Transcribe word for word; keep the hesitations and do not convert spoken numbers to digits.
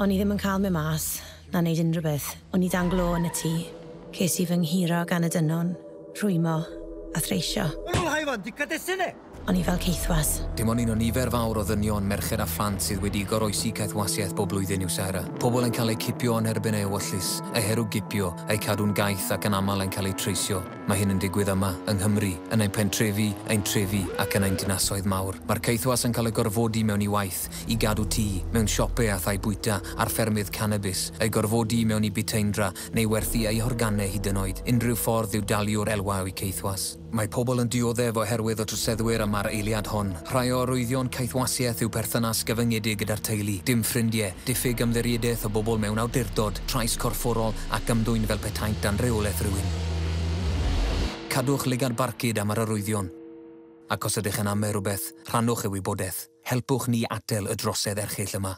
O'n i ddim yn cael mynd mas, na wneud unrhyw beth. O'n i dan glo yn y tŷ. Ces i fy nghuro gan y dynon, rhwymo a threisio. O'n i fel caethwas. Dim ond un o nifer fawr o ddynion, merched a phlant sydd wedi goroesi caethwasiaeth bob blwyddyn yw Sarah. Pobl yn cael eu cipio yn erbyn eu ewyllys, eu herwgipio, eu cadw'n gaeth ac yn aml yn cael eu treisio. Mae hyn yn digwydd yma, yng Nghymru, yn ein pentrefi, ein trefi ac yn ein dinasoedd mawr. Mae'r caethwas yn cael eu gorfodi mewn i waith, i gadw tŷ, mewn siopau a thai bwyta, ar ffermydd cannabis, eu gorfodi mewn i buteindra neu werthu eu horganau hyd yn oed. Unrhyw ffordd i'w dalio'r elwa o'u caethwas. Mae pobl yn dioddef oherwydd y troseddwyr yma'r eiliad hon. Rhai o arwyddion caethwasiaeth yw perthynas gyfyngedig gyda'r teulu, dim ffrindiau, diffyg ymddiriedaeth o bobl mewn awdurdod, trais corfforol ac ymddwyn fel petaent dan reolaeth rhywun. Cadwch lygad barcud am yr arwyddion. Ac os ydych yn amau rhywbeth, rhannwch y wybodaeth. Helpwch ni atal y drosedd erchyll yma.